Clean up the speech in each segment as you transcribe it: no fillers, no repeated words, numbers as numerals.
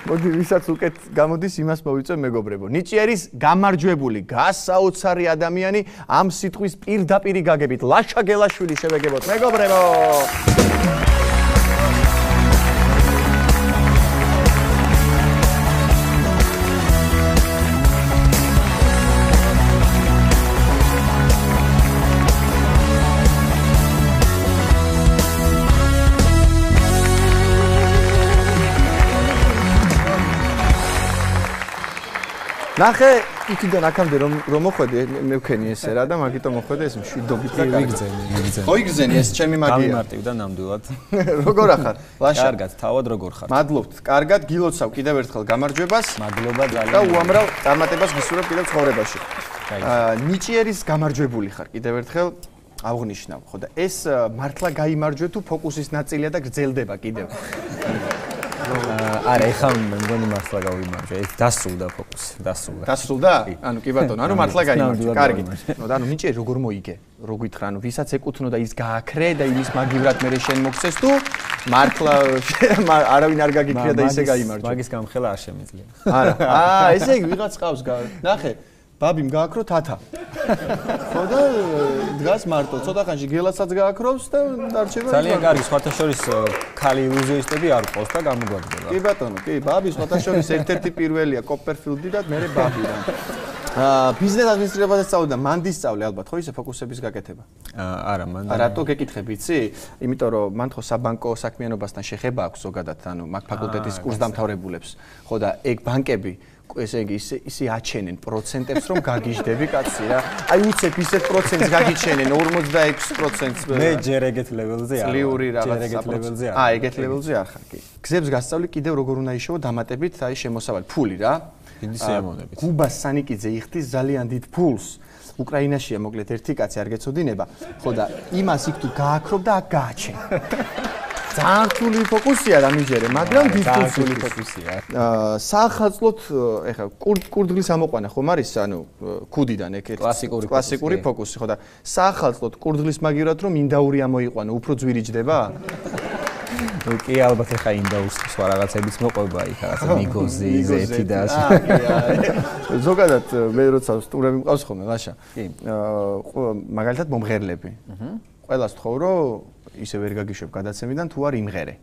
მოდი ვისაც უკეთ გამოდის იმას მოვიწვევ მეგობრებო. ნიჭიერის გამარჯვებული გასაოცარი ადამიანი ამ სიტყვის პირდაპირი გაგებით ლაშა გელაშვილი შევეგებოთ მეგობრებო. ნახე იქიდან აქამდე რომ მოხვედი მე ვქენი ესე რა და მაგიტომ მოხვედი ეს მშვიდობით და ვიგზენი. ხო იგზენი ეს ჩემი მაგია. გამიმარტივდა ნამდვილად. როგორ ახარ? ლაშა. კარგად, თავად როგორ ხარ? მადლობთ. კარგად გილოცავ კიდევ ერთხელ გამარჯვებას. მადლობა ძალიან. და უამრავ წარმატებას გისურვებ კიდევ ცხოვრებაში. ნიჭიერის გამარჯვებული ხარ კიდევ ერთხელ აღნიშნავ. ხო და ეს მართლა გაიმარჯვე თუ ფოკუსის ნაწილია და გრძელდება კიდევ. არა, ეხლა მგონი მართლა გავიმარჯვე. ეს დასრულდა ფოკუსი, დასრულდა. დასრულდა? ანუ კი ბატონო, ანუ მართლა გაიმარჯვე. კარგი. ნუ და ანუ ნიჭიერი როგორ მოიგე? რო გითხრა, ანუ ვისაც ეკუთვნო და ის გააქრე და იმის მაგივრად მე შენ მოგცეს თუ მართლა არავინ არ გაგიქრია და ისე გაიმარჯვე. მაგის გამხელა არ შემიძლია. არა. ესე იგი ვიღაც ყავს ნახე. ბაბიმ გააქრო თათა. ხო და დგას მარტო, ცოტა ხანში გელასაც გააქრობს და დარჩება. ძალიან კარგი, სხვათა შორის ქალი ილუზიონისტები არ ყავს და გამოგვაგდება. კი ბატონო, კი, ბაბი სხვათა შორის ერთ-ერთი პირველია კოპერფილდი და მე ბაბი რა. ბიზნეს ადმინისტრირებაზე სწავლობდა, მან ისწავლე ალბათ, ხო ისე ფოკუსების გაკეთება? არა, მან. რატო გეკითხები, იცი? იმიტომ რომ მან ხო საბანკო საქმიანობასთან შეხება აქვს ზოგადად, ანუ მაგ ფაკულტეტის კურსდამთავრებულებს. ხო და ეგ ბანკები ესე იგი ისე აჩენენ პროცენტებს რომ გაგიჟდები კაცი რა. აი უცებ ისეთ პროცენტს გაგიჩენენ 46%-ს. მე ჯერ ეგეთ ლეველზე არ. წლიური რაღაც ეგეთ ლეველზე არ. ეგეთ ლეველზე არ ხარ კი. გზებს გასწავლი კიდევ როგორ უნდა იშოვო დამატებით აი შემოსავალი ფული რა. დიდი სიამოვნებით. გუბას სანიკიძე იხდის ძალიან დიდ ფულს. უკრაინაშია მოკლედ ერთი კაცი არ გეცოდინება. ხო და იმას იქ თუ გააქრობ და აქ გააჩენ. ძალიან რთული ფოკუსია დამიჯერე, მაგრამ რთული ფოკუსია. საახალწლოდ ეხა კურდღლის ამოყვანა ხომ არის, ანუ ქუდიდან ეგეთ კლასიკური ფოკუსი, ხო და საახალწლოდ კურდღლის მაგივრად რომ ინდაური ამოიყვანო, უფრო ძვირიჯდება? კი ალბათ ეხა ინდაურს სხვა რაღაცებიც მოყვება იქ რაღაცა მიგოზი, ზეთი და ასე. ზოგადად მე როცა სტუმრები მყავს ხოლმე ლაშა. კი. მაგალითად მომღერლები. ყველას თხოვ რომ ისე ვერ გაგიშვებ გადაცემიდან თუ არ იმღერე.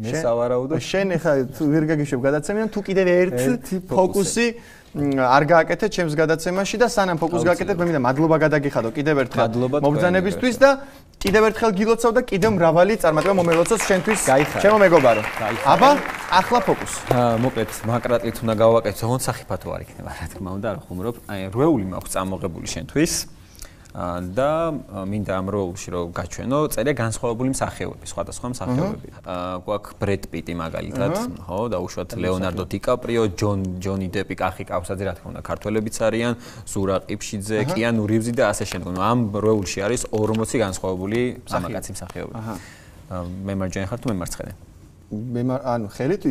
მე სავარაუდო შენ ეხა ვერ გაგიშვებ გადაცემიდან თუ კიდევ ერთი ფოკუსი არ გააკეთე ჩემს გადაცემაში და სანამ ფოკუსს გააკეთებ მე მინდა მადლობა გადაგიხადო კიდევ ერთხელ მობრძანებისთვის და კიდევ ერთხელ გილოცავ და კიდევ მრავალი წარმატება მომელოცოს შენთვის ჩემო მეგობარო. აბა ახლა ფოკუსი. მოკლედ მაკრატლით უნდა გავაკეთო, თუნდაც სახიფათო არ იქნება რა თქმა უნდა, რა ხუმრობ. აი რვეული მაქვს წამოღებული შენთვის. და მინდა ამ როლში რომ გაჩვენო წერია განსხვავებული მსახიობები, სხვადასხვა მსახიობები. გვაქვს ბრედ პიტი მაგალითად, ხო, და უშუალოდ ლეონარდო დიკაპრიო, ჯონი დეპი, კახი კავსაძე, რა თქმა უნდა, ქართველებიც არიან, ზურა ყიფშიძე, კიანუ რივზი და ასე შემდეგ. ამ როლში არის 40 განსხვავებული სამაკაცი მსახიობი. მე მარჯვენა ხარ თუ მე მარცხენა? ანუ ხელით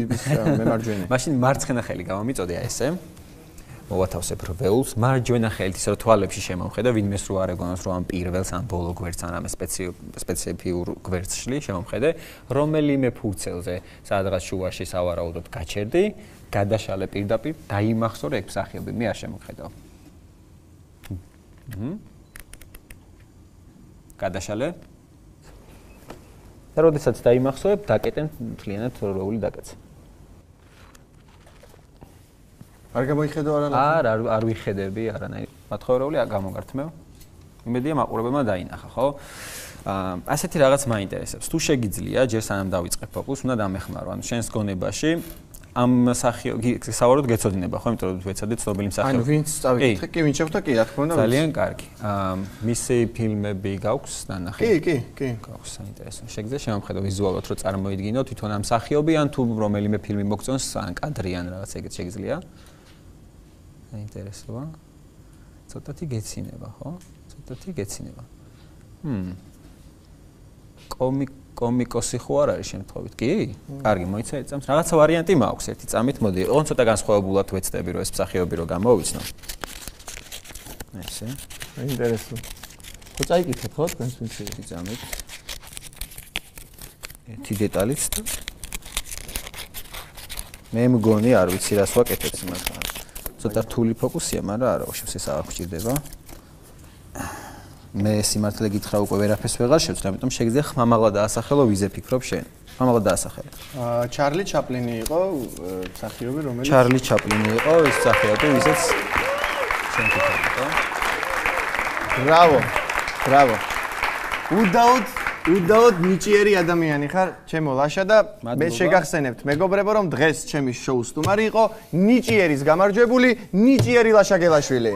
მე მარჯვენა. მაშინ მარცხენა ხელი გამომიწოდე აი ესე. მოვათავსებ რველს, მარჯვენა ხელით ისე რომ თვალებში შემომხედა, ვინმეს რო არ ეგონოს რომ ამ პირველს, ამ ბოლო გვერდს, ან ამ სპეციფიურ გვერდს შლი შემომხედე, რომელიმე ფურცელზე, სადღაც შუაში სავარაუდოდ გაჩერდი, გადაშალე პირდაპირ, დაიმახსოვრე ეგ მსახიობი, მე არ შემოხედავ. გადაშალე. და როდესაც დაიმახსოვრებ, დაკეტენ მთლიანად როლი დაკეცე. არ გამოიხედო არა? არ ვიხედები არანაირ. მათხოვრეული გამოგართმევ. იმედია მაყურებელმა დაინახა, ხო? ასეთი რაღაც მაინტერესებს. თუ შეგიძლია, ჯერ სანამ დავიწყებ ფოკუსს, უნდა დამეხმარო. ანუ შენს გონებაში ამ მსახიობი სავარაუდოდ გეცოდინება, ხო? იმიტომ რომ ვეცადე ცნობილი მსახიობი. ანუ ვინც წავიკითხე, კი, ვინ შეხვდა, კი, რა თქმა უნდა. ძალიან კარგი. მისი ფილმები გაქვს ნანახი? კი. გაქვს საინტერესო. შეგიძლია შემომხედო ვიზუალურად რომ წარმოიდგინო თვითონ ამ მსახიობი ან თუ რომელიმე ფილმი მოგწონს, ან კადრი ან რაღაც ეგეთ შეგიძლია? საინტერესოა. ცოტათი გეცინება, ხო? ცოტათი გეცინება. კომიკოსი ხო არ არის შემთხვევით? კი? კარგი, მოიცა ერთ წამს. რაღაცა ვარიანტი მაქვს ერთი წამით, მოდი. ოღონდ ცოტა განსხვავებულად ვეცდები რომ ეს მსახიობი რო გამოვიცნო. ესე. საინტერესო. ხო წაიკითხეთ ხო თქვენს ვიცი წამით. ერთი დეტალიც და მე მგონი არ ვიცი რას ვაკეთებ სიმართლე. ცოტა რთული ფოკუსია, მაგრამ არა, ვაშევ ეს აღარ გჭირდება. მე სიმართლე გითხრა უკვე ვერაფერს ვეღარ შევწერ, ამიტომ შეგიძლია ხმამაღლა დაასახელო ვიზე ფიქრობ შენ. ხმამაღლა დაასახელე. ჩარლი ჩაპლინი იყო მსახიობი, რომელიც ჩარლი ჩაპლინი იყო, ის მსახიობი, ვიზეც შენ ფიქრობ. ბრავო. უდაოდ ნიჭიერი ადამიანი ხარ, ჩემო ლაშა და მე შეგახსენებთ მეგობრებო, რომ დღეს ჩემი შოუს სტუმარი იყო ნიჭიერის გამარჯვებული ნიჭიერი ლაშა გელაშვილი.